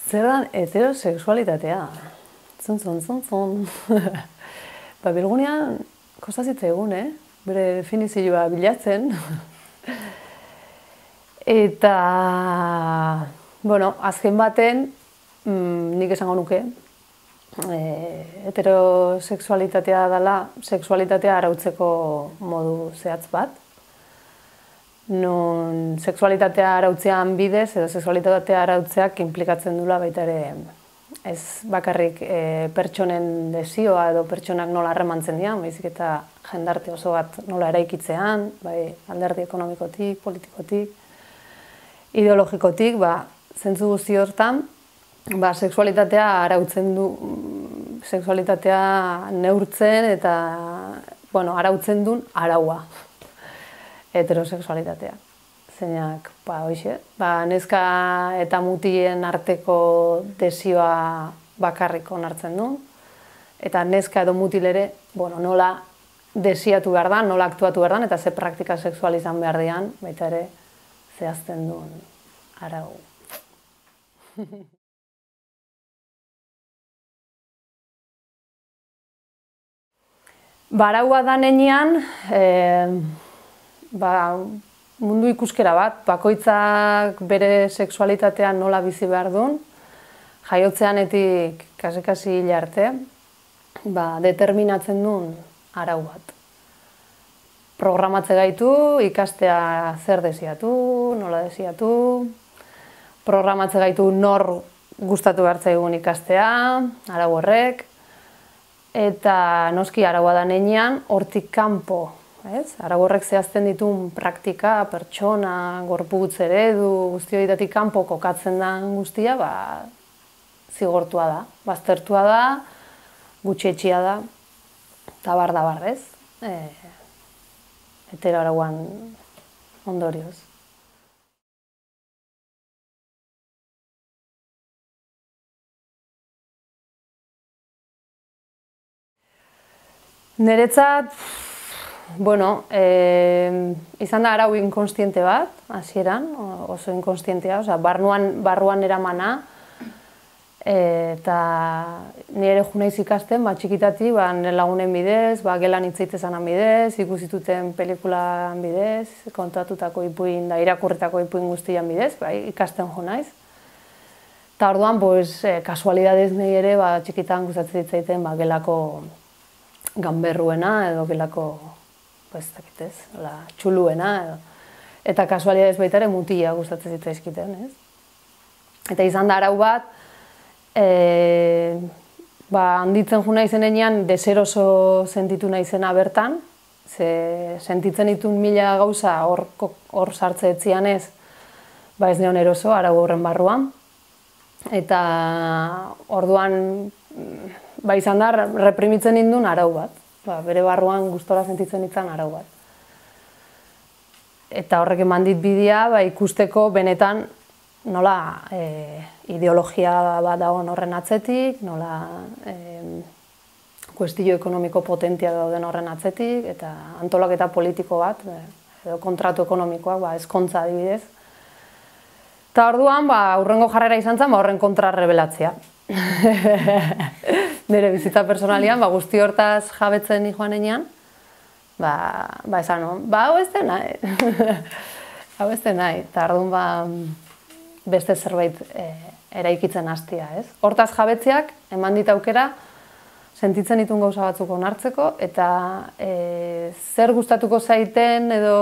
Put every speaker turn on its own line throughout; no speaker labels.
Zer da heterosexualitatea? Zun. Ba, bilgunean, kostazitza egun, bere definizioa bilatzen. Eta, bueno, azken baten, nik esango nuke, heterosexualitatea dela sexualitatea arautzeko modu zehatz bat. Non sexualitatea arautzean bidez edo sexualitatea arautzeak inplikatzen dula baita ere ez bakarrik pertsonen desioa edo pertsonak nola harremantzen dian, baizik eta jendarte oso bat nola eraikitzean, bai alderdi ekonomikotik, politikotik, ideologikotik, zentzu guzti hortan, sexualitatea arautzen du, sexualitatea neurtzen eta, bueno, arautzen duen araua. Heterosexualitatea. Zeinak, hoxe, neska eta mutien arteko desioa bakarrik onartzen du, eta neska edo mutil ere, nola desiatu behar da, nola aktuatu behar da, eta ze praktika sexual izan behar dian, baita ere zehazten duen arau. Araua da nenean, mundu ikuskera bat, bakoitzak bere sexualitatea nola bizi behar duen, jaiotzeanetik kasi hil arte, determinatzen duen arau bat. Programatze gaitu, ikastea zer desiatu, nola desiatu, programatze gaitu nor gustatu behar zaigun ikastea, arau horrek, eta noski araua da nenean, hortik kanpo, arau horrek zehazten dituen praktika, pertsona, gorputz eredu, guzti horietatik kanpo kokatzen den guztia, zigortua da, baztertua da, gutxietxia da, eta bar, ez? Hetero arauan ondorioz. Niretzat, izan da arau inkonstiente bat, hasieran, oso inkonstientea, barruan eramana, eta nire jo naiz ikasten, txikitatik, nire lagunen bidez, gelan hitz egitezanan bidez, ikusituten pelikulan bidez, kontatutako ipuin, irakurritako ipuin guztian bidez, ikasten jo naiz. Eta orduan, kasualidadez nahi ere, txikitan gustatzen zitzaiten, gelako ganberruena edo gelako, txuluena, eta kasualidadez baita ere mutila gustatzen zitzaizkiten, ez? Eta izan da arau bat, handitzen jo naizenean deseroso sentitu naizena bertan, sentitzen ditun mila gauza hor sartze etzian ez neon eroso arau horren barruan. Eta orduan izan da reprimitzen nindun arau bat, bere barruan gustora sentitzen nintzen arau bat. Eta horrek eman dit bidea ikusteko benetan nola ideologia bat dagoen horren atzetik, nola kuestio ekonomiko potentia dauden horren atzetik, eta antolaketa politiko bat, edo kontratu ekonomikoak, ezkontza adibidez. Eta orduan, hurrengo jarrera izan zen, horren kontra rebelatzea. Nire bizitza personalian, guzti hortaz jabetzen joan enean, esan, hau ez den nahi. Hau ez den nahi, eta orduan, beste zerbait eraikitzen hastia, ez? Hortaz jabetzeak, eman dit aukera, sentitzen ditun gauza batzuk onartzeko, eta zer gustatuko zaiten, edo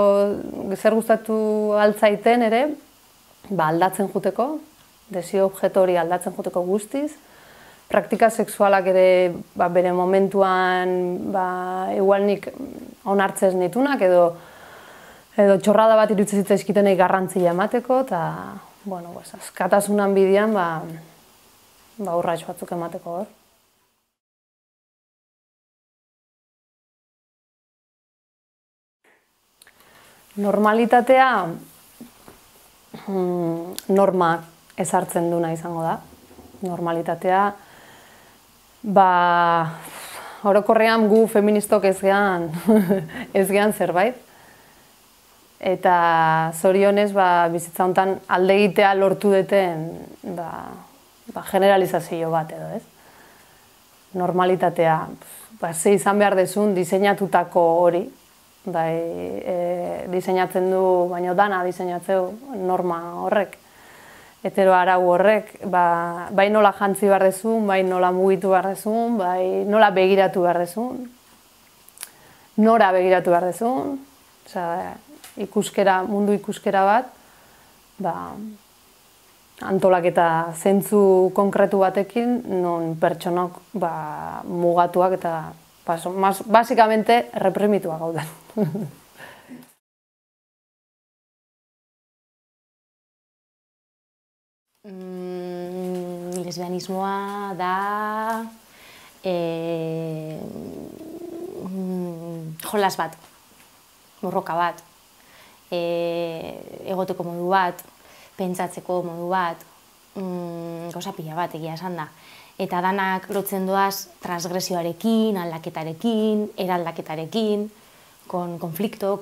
zer gustatu altzaiten ere, aldatzen juteko, desio objektu hori aldatzen juteko guztiz, praktika sexualak ere bere momentuan igual nik onartzez nitunak, edo txorrada bat iruditzen zitzaizkitenei garrantzia emateko, eta askatasunan bidean urrats batzuk emateko hor. Normalitatea norma ezartzen duna izango da. Normalitatea, orokorrean gu feministok ez gehan zerbait. Eta zorionez bizitza honetan alde egitea lortu duten generalizazio bat edo, ez? Normalitatea, ze izan behar dezun diseinatutako hori, diseinatzen du, baina dana diseinatzeu norma horrek, hetero arau horrek, bai nola jantzi behar dezun, bai nola mugitu behar dezun, bai nola begiratu behar dezun, nora begiratu behar dezun, ikuskera, mundu ikuskera bat, antolaketa zentzu konkretu batekin, non pertsonok mugatuak eta basikamente reprimituak gauden.
Lesbianismoa da jolas bat, borroka bat, egoteko modu bat, pentsatzeko modu bat, gauza pila bat egia esan da. Eta danak lotzen doaz transgresioarekin, aldaketarekin, eraldaketarekin, konflikto,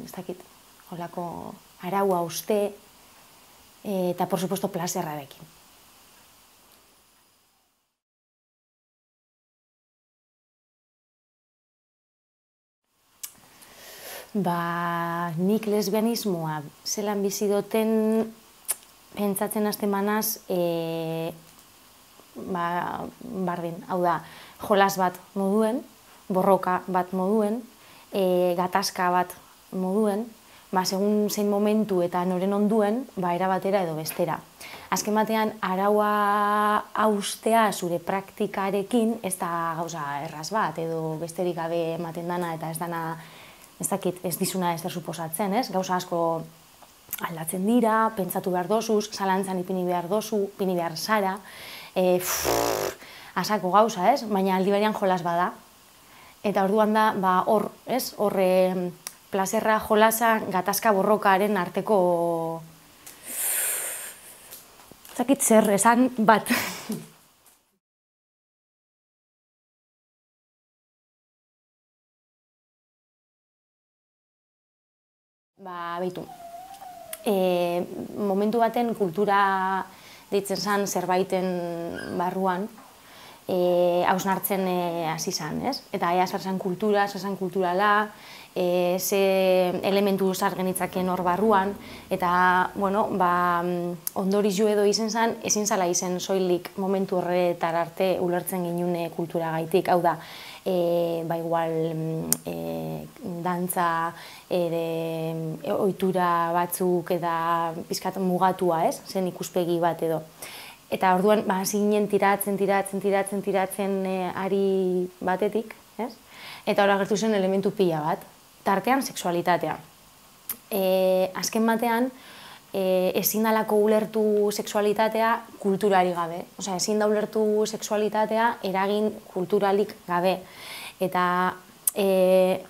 ez dakit, holako araua uste, eta, por supuesto, plazerrarekin. Nik lesbianismoa zelan bizi duten pentsatzen hasten banaz, bardin, hau da, jolas bat moduen, borroka bat moduen, gatazka bat moduen, segun zein momentu eta noren onduen, era batera edo bestera. Azken batean, araua haustea zure praktikarekin, ez da gauza erraz bat, edo besterik gabe ematen dana eta ez dana, ez dakit, ez dizuna ez da suposatzen, ez? Gauza asko aldatzen dira, pentsatu behar dozuz, zalantzan ipini behar dozu, ipini behar zara, asako gauza, ez? Baina aldi berean jolas bada. Eta orduan da, hor, ez? Hor, plazerra, jolasa, gatazka borrokaren arteko, ez dakit zer, esan bat. Beitu, momentu baten kultura deitzen zen zerbaiten barruan hausnartzen hasi zen, ez? Eta ea zer zen kultura, zer zen kulturala, ze elementu zar genitzaken hor barruan, eta, bueno, ondorizu edo izen zen, ezin zala izen soilik momentu horretar arte ulertzen ginune kultura gaitik, hau da, igual dantza, ohitura batzuk eta pixkat mugatua, ez? Zen ikuspegi bat edo. Eta orduan, zinen tiratzen ari batetik, ez? Eta hor agertu zen elementu pila bat, tartean sexualitatea. Azken batean, ezin dalako ulertu sexualitatea kulturari gabe. Osea, ezin da ulertu sexualitatea eragin kulturalik gabe. Eta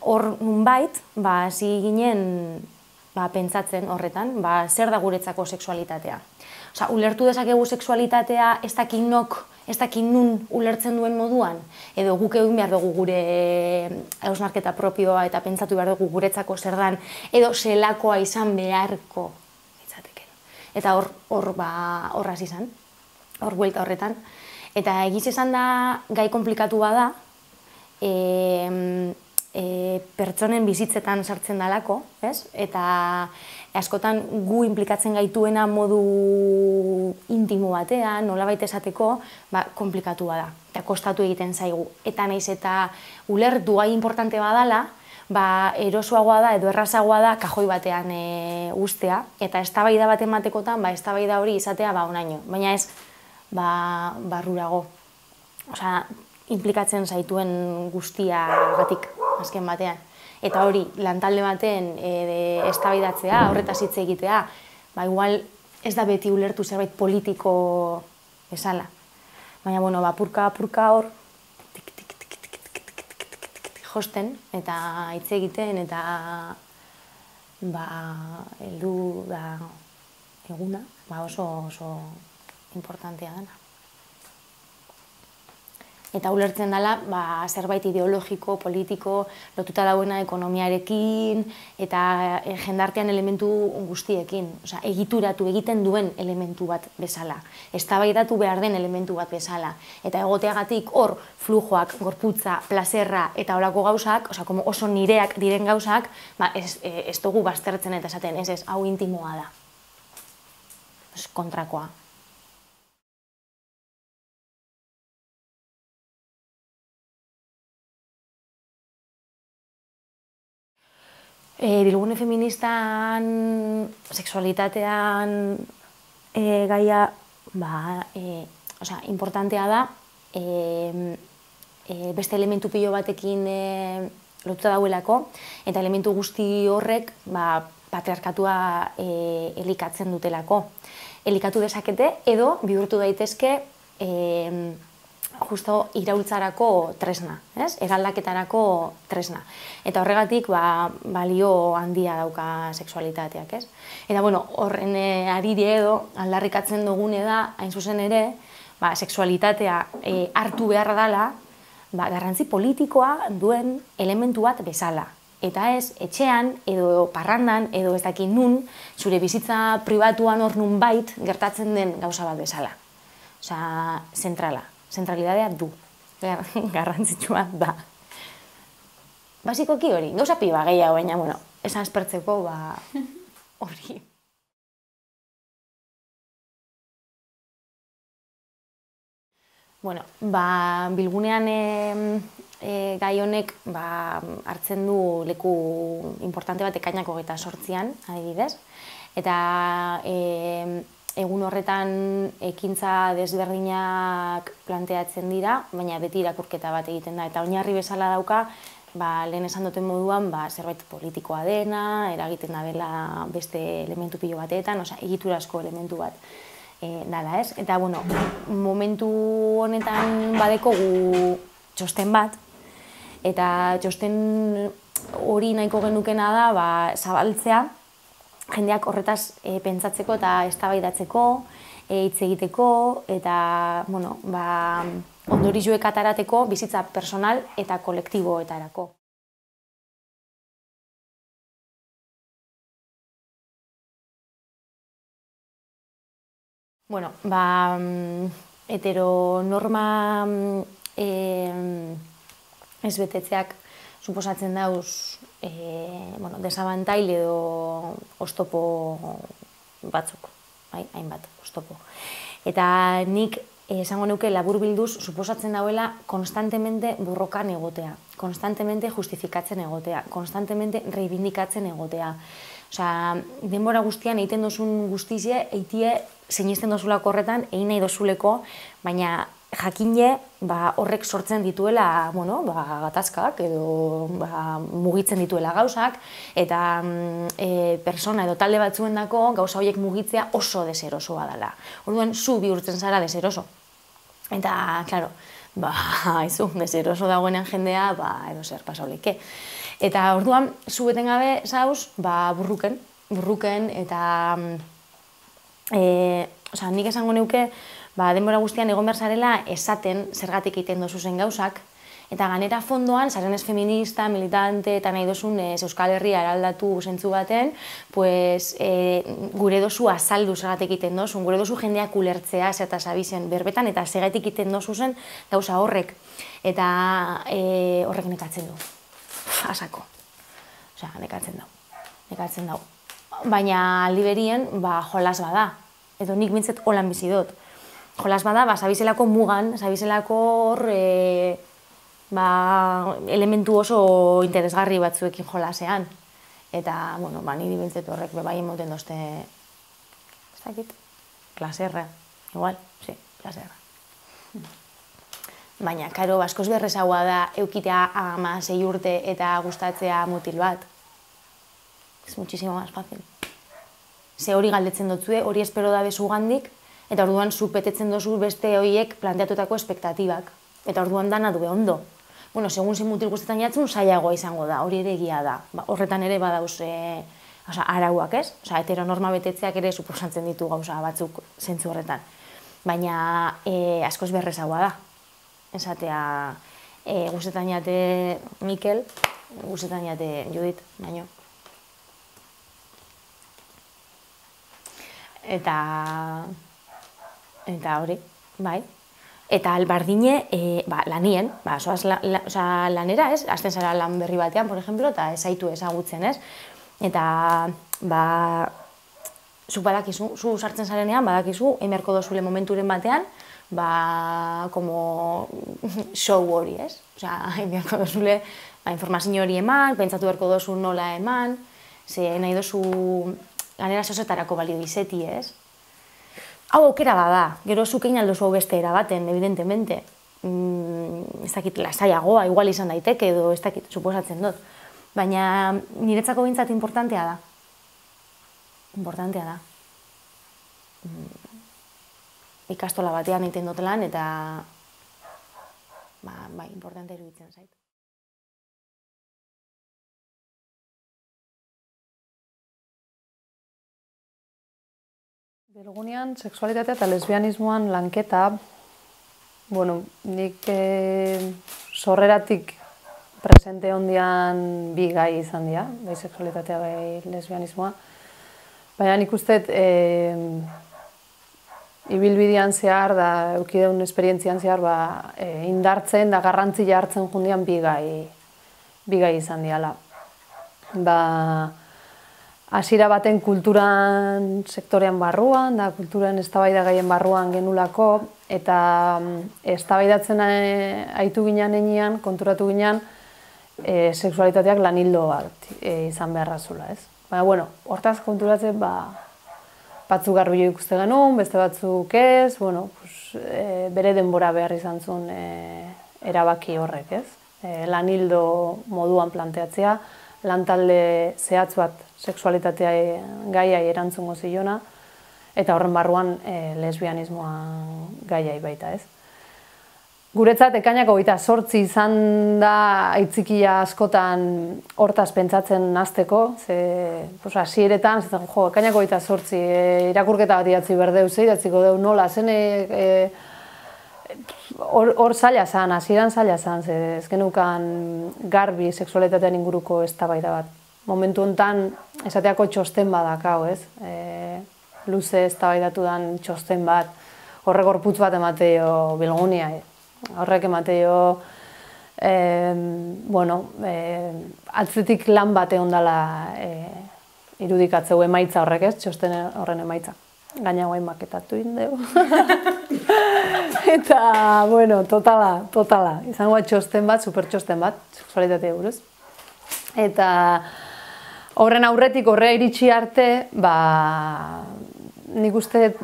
hor nunbait, hasi ginen pentsatzen horretan, zer da guretzako sexualitatea. Osea, ulertu dezakegu sexualitatea ez dakit nok, ez dakit nun ulertzen duen moduan, edo guk egin behar dugu gure hausnarketa propioa eta pentsatu behar dugu guretzako zer dan, edo zelakoa izan beharko. Eta hor hasi zen, hor buelta horretan. Eta egiz esan da gai komplikatu bada, pertsonen bizitzetan sartzen dalako, ez? Eta askotan gu implikatzen gaituena modu intimo batean, nolabait esateko, komplikatu bada, eta kostatu egiten zaigu. Eta nahiz eta ulertu gai importante badala, erosoagoa da edo errazagoa da kajoi batean ustea, eta eztabaida bat ematekotan, eztabaida hori izatea onaino, baina ez barrurago. Osea, implikatzen zaituen guztiagatik azken batean. Eta hori, lantalde baten eztabaidatzea, horretaz hitz egitea, igual ez da beti ulertu zerbait politiko bezala. Baina, bueno, purka hor, josten eta hitz egiten eta heldu da eguna, oso importantea dena. eta ulertzen dela zerbait ideologiko, politiko, lotuta dauena ekonomiarekin eta jendartean elementu guztiekin. Osea, egituratu egiten duen elementu bat bezala. Eztabaidatu behar den elementu bat bezala. Eta egoteagatik hor flujoak, gorputza, plazerra eta horako gauzak, oso nireak diren gauzak, ez dugu baztertzen eta esaten, ez, hau intimoa da. Kontrakoa. Bilgune feministan, sexualitatean gaia importantea da, beste elementu pilo batekin lotuta dauelako, eta elementu guzti horrek patriarkatua elikatzen dutelako. Elikatu dezakete edo bihurtu daitezke justo iraultzarako tresna, eraldaketarako tresna. Eta horregatik balio handia dauka sexualitateak. Eta horren ariri edo aldarrikatzen dugune da, hain zuzen ere, sexualitatea hartu beharra dela, garrantzi politikoa duen elementu bat bezala. Eta ez, etxean, edo parrandan, edo ez dakit nun, zure bizitza pribatuan hor nunbait gertatzen den gauza bat bezala. Osea, zentralidadea du, garrantzitsua da. Basikoki hori, gauza piba gehiago, baina, esan espertzeko, hori. Bilgunean gai honek hartzen du leku importante bat ekainak 28an, adibidez, eta egun horretan ekintza desberdinak planteatzen dira, baina beti irakurketa bat egiten da. Eta oinarri bezala dauka, lehen esan duten moduan, zerbait politikoa dena, eragiten da dela beste elementu pilo batetan, egiturazko elementu bat dala, ez? Eta, momentu honetan badekogu txosten bat, eta txosten hori nahiko genukena da, zabaltzea, jendeak horretaz pentsatzeko eta eztabaidatzeko, hitz egiteko, eta ondorioak atarateko bizitza personal eta kolektiboetarako. Heteronorma ez betetzeak suposatzen dauz desabantail edo oztopo batzuk, hainbat oztopo. Eta nik esango nuke laburbilduz suposatzen dauela konstantemente borrokan egotea, konstantemente justifikatzen egotea, konstantemente reivindikatzen egotea. Osea, denbora guztian egiten dozun guztizie, eitie sinisten dozulako horretan, egin nahi dozuleko, baina jakine horrek sortzen dituela gatazkak edo mugitzen dituela gauzak, eta persona edo talde batzuendako gauza horiek mugitzea oso deserosoa dela. Orduan, zu bihurtzen zara deseroso. Eta, klaro, deseroso dagoenean jendea, edo zer pasauleke. Eta orduan, zu betengabe zauz, burruken, eta nik esango neuke, denbora guztian egon behar zarela esaten zergatik egiten dozuzen gauzak, eta ganera fondoan, zarenez feminista, militante, eta nahi dozun Euskal Herria eraldatu zentzu baten, gure dozu azaldu zergatik egiten dozun, gure dozu jendeak ulertzea eta zabizen berbetan, eta zergatik egiten dozuzen gauza horrek. Eta horrek nekatzen du. Asako. Osea, nekatzen dau. Baina aldi berien, jolas bada. Edo nik bintzet holan bizi dut. Jolas bada, zabizelako mugan, zabizelako hor elementu oso interesgarri batzuekin jolasean. Eta, niri bintzet horrek bai emoten dozte, ez dakit, plaserra. Igual, sí, plaserra. Baina, karo, askoz berrezagoa da eukitea 6 urte eta gustatzea mutil bat. Es muchísimo más fácil. Ze hori galdetzen dotzue, hori espero da bezugandik, eta orduan zu betetzen dozu beste horiek planteatutako espektatibak. Eta orduan dana dube ondo. Segun zein mutil guztetan jatzen, zailagoa izango da, hori ere egia da. Horretan ere badauz arauak, ez? Heteronorma betetzeak ere suposatzen ditu gauza batzuk zentzu horretan. Baina askoz berrezagoa da. esatea gustetan jate Mikel, gustetan jate Judit, baino. Eta hori, bai. Eta albardine, lanien, zoaz lanera, ez? Azten zara lan berri batean, por ejemplo, eta ez zaitu ezagutzen, ez? Eta, zuk badakizu, zu sartzen zarenean, badakizu, emerko dozule momenturen batean, como show hori, ez? Osea, emerko dozule, informazio hori eman, pentsatu berko dozu nola eman, ze nahi dozu lanera zozetarako balio izeti, ez? Hau aukera bada, gero zuk egin aldozu beste erabaten, evidentemente. Ez dakit lasaiagoa, igual izan daiteke edo ez dakit, suposatzen dut. Baina niretzako bintzat importantea da. Importantea da. Ikastola batean egiten dut lan eta importantea iruditzen zait.
Bilgunean, sexualitatea eta lesbianismoan lanketa, nik sorreratik presente hondian bi gai izan dira, bai sexualitatea, bai lesbianismoa. Baina nik uste ibilbidean zehar, eukideun esperientzian zehar, indartzen da garrantzia hartzen jundian bi gai izan diala. Hasiera baten kulturan sektorean barruan, da kulturan eztabaida gaien barruan genulako, eta eztabaidatzen aitu ginen enean, konturatu ginen, sexualitateak lanildo bat izan beharra zula, ez? Baina, hortaz konturatzen, batzuk garbi ikuste genuen, beste batzuk ez, bere denbora behar izan zuen erabaki horrek, ez? Lanildo moduan planteatzea, lantalde zehatz bat sexualitatea gaiai erantzungo zilona, eta horren barruan lesbianismoa gaiai baita, ez? Guretzat, ekainako 28 izan da aitzikia askotan hortaz pentsatzen hasteko, hasieretan, ekainako 28 irakurketa bat idatzi berdeu, idatziko deu nola, zen hor zaila zan, hasieran zaila zan, ez genukan garbi sexualitatean inguruko eztabaida bat. Momentu honetan, esateako txosten badakau, ez? Luze eztabaidatu dan txosten bat, horrek gorputz bat emateo Bilgunia, horrek emateo, atzetik lan bat egon dela irudikatzeu emaitza horrek, ez? Txosten horren emaitza. Gaina guain maketatu indeu. Eta, totala. Izango bat txosten bat, super txosten bat, sexualitatea buruz. Eta horren aurretik, horrea iritsi arte, nik uste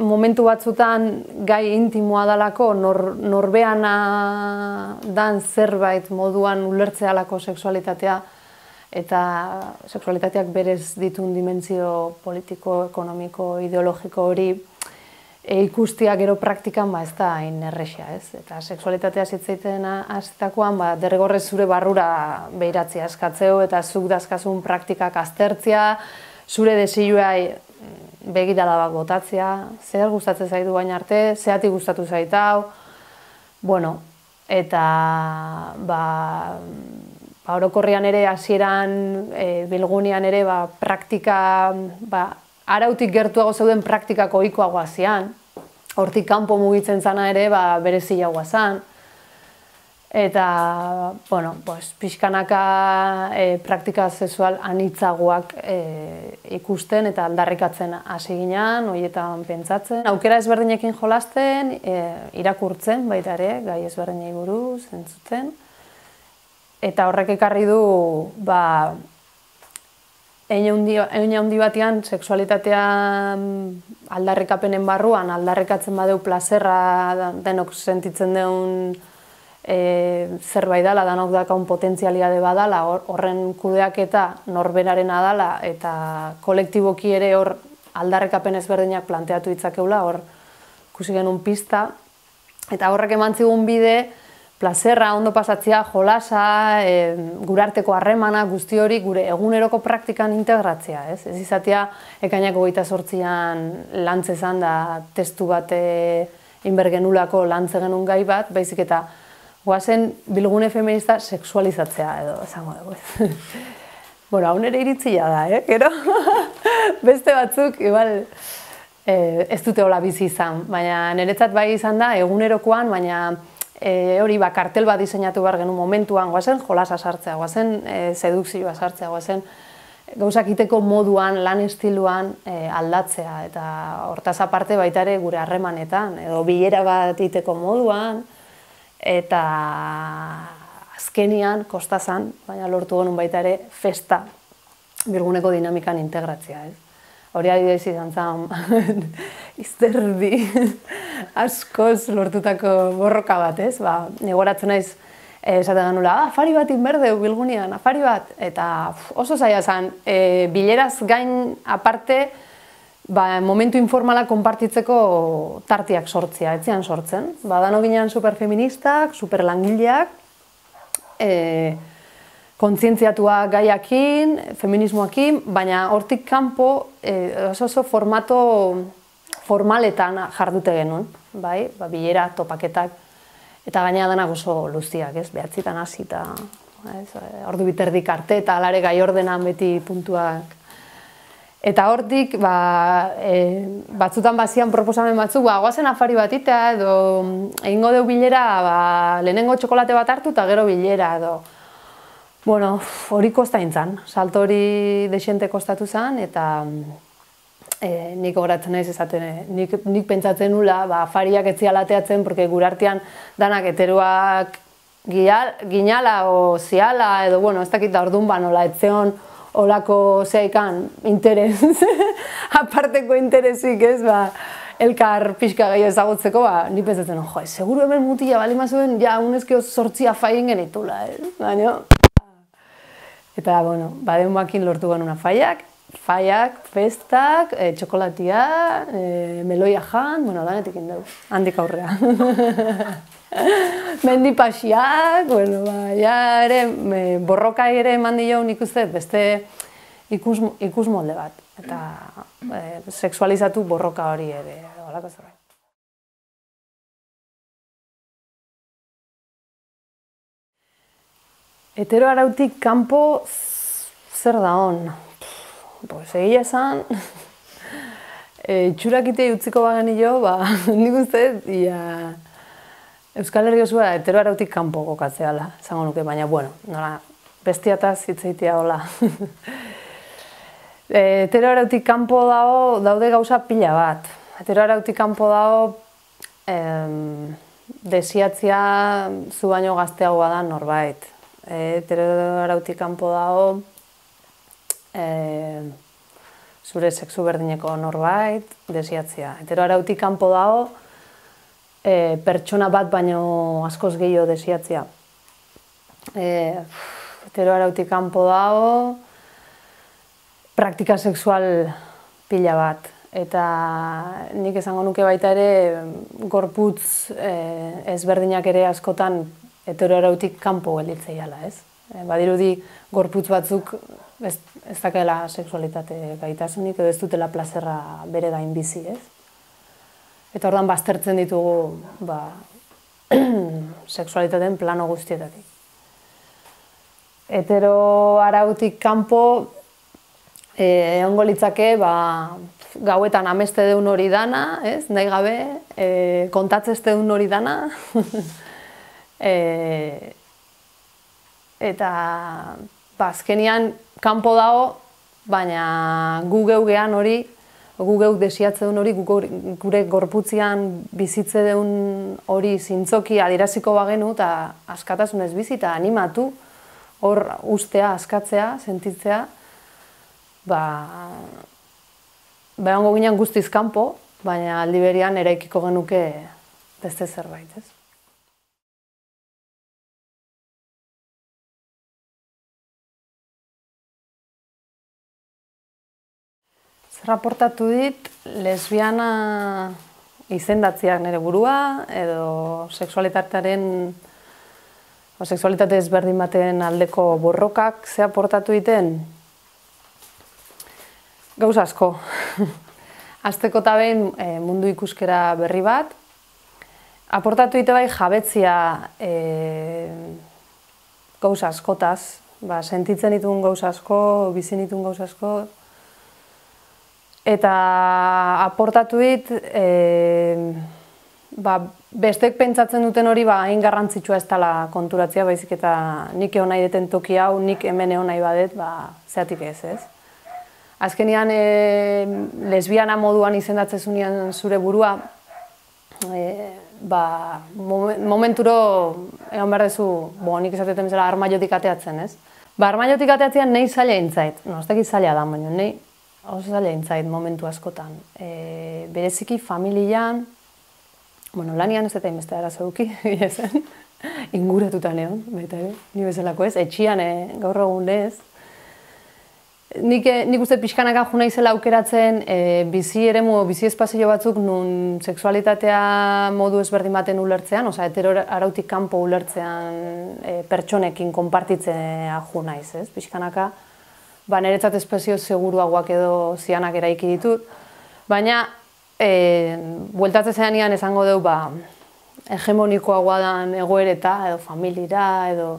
momentu batzutan gai intimoa dalako, norbeana dan zerbait moduan ulertzealako sexualitatea, eta sexualitateak berez ditun dimentsio politiko, ekonomiko, ideologiko hori ikustia gero praktikan ez da hain errexea, ez? Eta sexualitatea zitzaiten aztakoan derrigorrez zure barrura behiratzea eskatzeo eta zuk dazkazun praktikak aztertzea, zure desioa begirada bat botatzea, zer gustatzen zaitu baina arte, zeatik gustatu zaitau, eta orokorrean ere, hasieran Bilgunean ere, praktika, arautik gertuago zeuden praktikako ohikoagoa zian, hortik kanpo mugitzen zana ere, bereziagoa zan, eta, pixkanaka praktika sexual anitzagoak ikusten eta aldarrikatzen hasi ginen, horietan pentsatzen. Aukera ezberdinekin jolasten, irakurtzen baita ere, gai ezberdinei buruz, entzuten, eta horrek ekarri du, eine handi batean, sexualitatea aldarrikapenen barruan, aldarrikatzen badeu plazerra denok sentitzen deun zerbait dela, denok dakaun potentzialiade badala, horren kudeaketa norberarena dela, eta kolektiboki ere hor aldarrikapen ezberdinak planteatu ditzakeula, hor ikusi genuen pista, eta horrek eman zigun bide, plazerra, ondo pasatzea, jolasa, gure arteko harremana, guzti hori gure eguneroko praktikan integratzea, ez? Ez izatea ekainako 28an lantzezan da testu bat inbergenulako lantze genuen gai bat, baizik eta goazen bilgune feminista sexualizatzea edo, esango dugu. Bueno, hau nire iritzia da, gero? Beste batzuk, igual, ez dute hola bizi izan, baina niretzat bai izan da, egunerokoan, baina hori kartel bat diseinatu behar genuen momentuan, goazen jolasa sartzea, goazen sedukzioa sartzea, goazen gauzak iteko moduan, lan estiluan aldatzea, eta hortaz aparte baita ere gure harremanetan, edo bilera bat iteko moduan, eta azkenian, kostazan, baina lortu genuen baita ere festa bilguneko dinamikan integratzea, ez? Hori adibidez izan zen, izterdi askoz lortutako borroka bat, ez? Negoratzen naiz, esaten genula, afari bat inberdeu bilgunean, afari bat, eta oso zaila zen, bileraz gain aparte, momentu informalak konpartitzeko tartiak sortzea, etzian sortzen. Dano ginean superfeministak, superlangileak, kontzientziatuak gaiakin, feminismoakin, baina hortik kanpo oso formato formaletan jardute genuen, bai? Bilera, topaketak, eta gaina denak oso luziak, ez? Behatzitan hasita, ordu biterdik arte, eta alare gai ordenan beti puntuak. Eta hortik, batzutan bazian proposamen batzuk, goazen afari bat itea, edo egingo deu bilera, lehenengo txokolate bat hartu eta gero bilera, edo. Bueno, hori kosta intzan, salto hori desente kostatu zen, eta nik horatzen naiz esaten, nik pentsatzen nula, afariak etziala ateatzen, porque gure artean danak heteroak ginala o ziala, edo, bueno, ez dakit da orduan nola, etzeon olako zeikan interes, aparteko interesik, ez, elkar pixka gehiago ezagutzeko, ni pentsatzen, jo, seguru hemen mutila bali mazuen, ja, unezkio 8 afaien genitula, baina. Eta, bueno, baden lortu genuen afaiak, festak, txokolatia, meloia jan, bueno, danetik indau, handik aurrea. Mendipasiak, bueno, ja ere, borroka ere eman dio nik uste, beste ikusmolde bat. Eta sexualizatu borroka hori ere, holako zerbait. Hetero arautik kanpo zer da hon? Pues egia esan, itxurakite utziko bagani jo, nik uste, Euskal Herri osua hetero arautik kanpo kokatzeala, esango nuke, baina, bueno, nola, bestiataz hitzeitea hola. Hetero arautik kanpo daude gauza pila bat. Hetero arautik kanpo desiatzia zu baino gazteagoa da norbait. Hetero arautik kanpo dago zure sexu berdineko norbait, desiatzia. Hetero arautik kanpo dago pertsona bat baino askoz gehiago desiatzia. Hetero arautik kanpo dago praktika sexual pila bat. Eta nik esango nuke baita ere gorputz ezberdinak ere askotan hetero arautik kanpo gelditzeiala, ez? Badirudi gorputz batzuk ez dakela sexualitate gaitasunik edo ez dutela plazerra bere gain bizi, ez? Eta orduan baztertzen ditugu sexualitateen plano guztietatik. Hetero arautik kanpo egongo litzake gauetan ameste deun hori dana, ez? Nahi gabe, kontatzez deun hori dana. Eta azkenian kanpo dago, baina gu geugean hori, gu geuk desiatze duen hori, gure gorputzian bizitze duen hori zintzoki adieraziko bagenu eta askatasunez bizi eta animatu, hor ustea, askatzea, sentitzea, egongo ginen guztiz kanpo, baina aldi berean eraikiko genuke beste zerbait, ez? Raportatu dit, lesbiana izendatziak nire burua, edo sexualitate ezberdin baten aldeko borrokak ze aportatu diten? Gauz asko. Hasteko eta behin mundu ikuskera berri bat, aportatu dite bai jabetzia gauza askotaz, sentitzen dituen gauza asko, bizi dituen gauza asko, eta aportatu dit, bestek pentsatzen duten hori hain garrantzitsua ez dela konturatzea, baizik eta nik egon nahi deten toki hau, nik hemen egon nahi badet, zeatik ez. Azkenean, lesbiana moduan izendatzen zunean zure burua, momenturo egon behar dezu, nik esatetan bezala armaiotik ateatzen, ez? Armaiotik ateatzean nahi zaila intzait, ez dakit zaila da, baina nahi oso zaila intzait momentu askotan. Bereziki familian, lanian ez eta inbeste arazo duki, inguratutan egon, baita ere, ni bezalako ez, etxian gaur egun ez. Nik uste pixkanaka jo naizela aukeratzen bizi eremu, bizi espazio batzuk nun sexualitatea modu ezberdin baten ulertzean, osea, hetero arautik kanpo ulertzean pertsonekin konpartitzea jo naiz, ez? Pixkanaka, niretzat espazio seguruagoak edo zianak eraiki ditut, baina bueltatzen zenean esango dugu hegemonikoagoa dan egoereta, edo familira, edo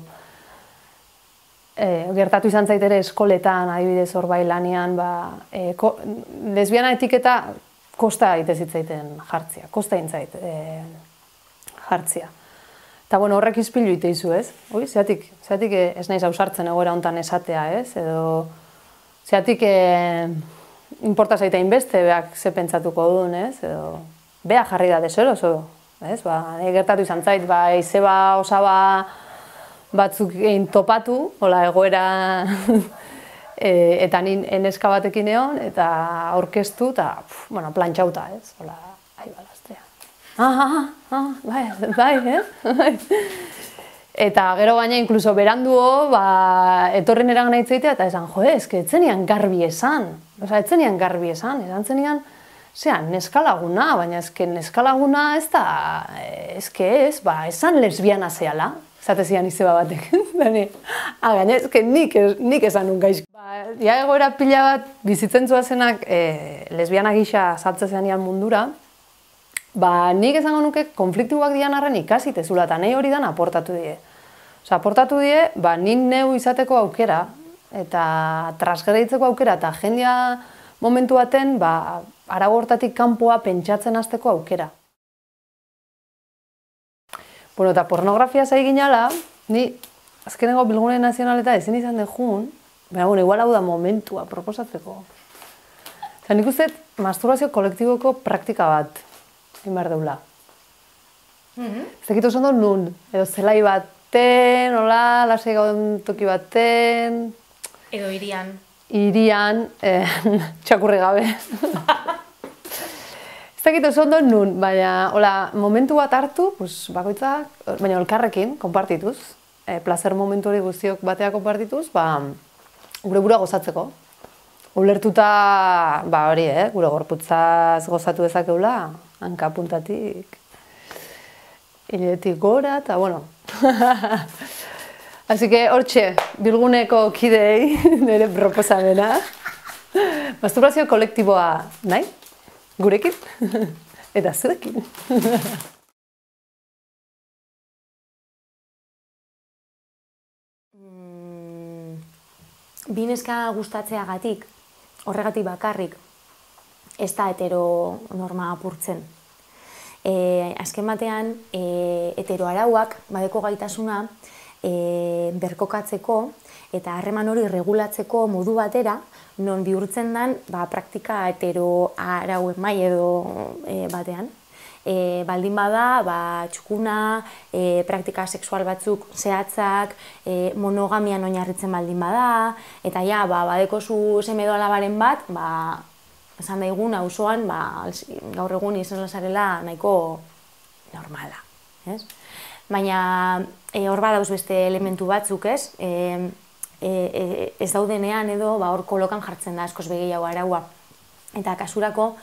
gertatu izan zait ere eskoletan, adibidez hor bai lanean, lesbiana etiketa kosta egite zitzaiten jartzea, kosta intzait jartzea. Eta horrek izpilu ite izu, ez? Zeatik ez naiz ausartzen egoera hontan esatea, ez? Edo zeatik inporta zaita inbeste, beak ze pentsatuko duen, ez? Edo bea jarri da deseroso, ez? Gertatu izan zait, izeba osaba batzuk egin topatu, egoera, eta neska batekin egon, eta aurkeztu, eta plantxauta, ez? Ahi balaztea. Bai, Eta gero baina, inkluso beranduo, etorren eran nahi zeitea, eta esan, etzenian garbi esan. Etzenian garbi esan, zenian, neska laguna, baina neska laguna ez da, esan lesbiana zehala. Zatezian izeba batek. Gaina, nik esan nun gaizk. Egoera pila bat bizitzen zuazenak lesbiana gisa saltze zenean mundura, nik esango nuke konfliktuak dian arren ikasitezula, eta nahi hori dan aportatu die. Aportatu die, nik neu izateko aukera, eta transgreditzeko aukera, eta jendia momentu baten, arau hortatik kanpoa pentsatzen hasteko aukera. Eta pornografia zai ginala, ni azkenengo Bilgune Nazionaleta ezin izan dejun, baina igual hau da momentua proposatzeko. Nik uste masturbazio kolektiboko praktika bat egin behar deula. Ez dakit oso ondo nun, edo zelai baten, lasai gauden toki baten...
Edo irian.
Irian, txakurri gabe. Ez dakit oso ondo nun, baina momentu bat hartu, bakoitzak, baina elkarrekin, konpartituz, placer momentu hori guztiok batea konpartituz, gure burua gozatzeko. Ulertuta, hori, gure gorputzaz gozatu dezakeula, hanka puntatik, hiletik gora, eta, Así que, hortxe, Bilguneko kideei, nire proposamena, masturbazio kolektiboa nahi? Gurekin, eta zuekin.
Bi neska gustatzeagatik, horregatik bakarrik, ez da heteronorma apurtzen. Azken batean, heteroarauak badeko gaitasuna berkokatzeko eta harreman hori regulatzeko modu batera, non bihurtzen den praktika heteroarauen mai edo batean. Baldin bada, txukuna, praktika sexual batzuk zehatzak, monogamian oinarritzen baldin bada, eta badekozu seme edo alabaren bat, esan daigun auzoan, gaur egun izan lazarela nahiko normala. Baina hor badauz beste elementu batzuk, ez daudenean edo hor kolokan jartzen da askoz begeiago araua. Eta kasurako,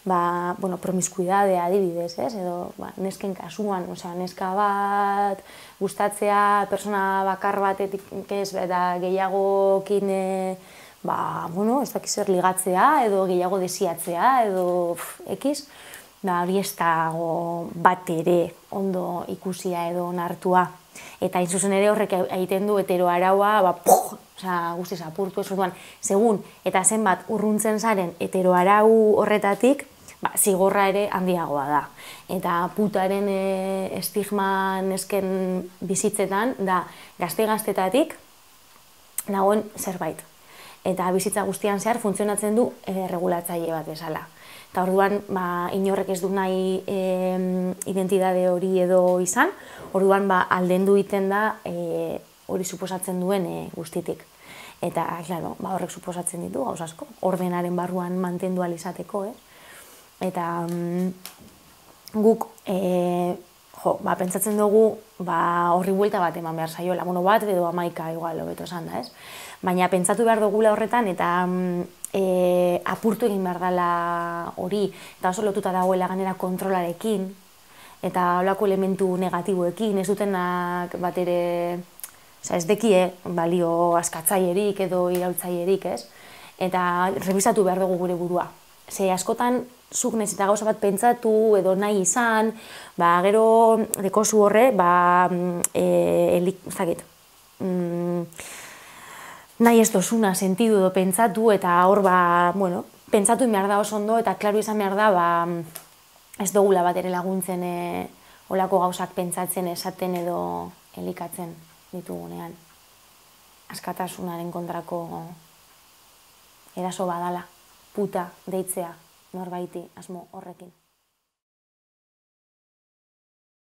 promiskuidadea adibidez, edo nesken kasuan, neska bat gustatzea, persona bakar batetik ez, eta gehiagokin, ez dakiz zer ligatzea, edo gehiago desiatzea, edo ekiz, hori ez dago bat ere ondo ikusia edo onartua. Eta hain zuzen ere horrek egiten du heteroaraua, guztiz apurtu ez orduan, segun eta zenbat urruntzen zaren heteroarau horretatik, zigorra ere handiagoa da. Eta putaren estigma nesken bizitzetan da gazte-gaztetatik nagoen zerbait. Eta bizitza guztian zehar funtzionatzen du regulatzaile bat bezala. Eta orduan inorrek ez du nahi identitate hori edo izan, orduan aldendu egiten da hori suposatzen duen guztitik. Eta, klaro, horrek suposatzen ditu, gauz asko, ordenaren barruan mantendu ahal izateko, Eta guk pentsatzen dugu horri buelta bat eman behar zaiola, bat edo 11 igual, hobeto esan da, ez? Baina pentsatu behar dugula horretan eta apurtu egin behar dela hori, eta oso lotuta dagoela ganera kontrolarekin, eta holako elementu negatiboekin, ez dutenak bat ere, ez dekie balio askatzailerik edo iraultzailerik, ez? Eta revisatu behar dugu gure burua. Ze askotan, zuk nahiz eta gauza bat pentsatu edo nahi izan, gero dekozu horre, nahi ez dozuna sentidu edo pentsatu, eta hor, pentsatu behar da oso ondo, eta klaro izan behar da, ez dugula bat ere laguntzen olako gauzak pentsatzen, esaten edo elikatzen ditugunean. Askatasunaren kontrako eraso badala, puta deitzea norbaiti asmo horrekin.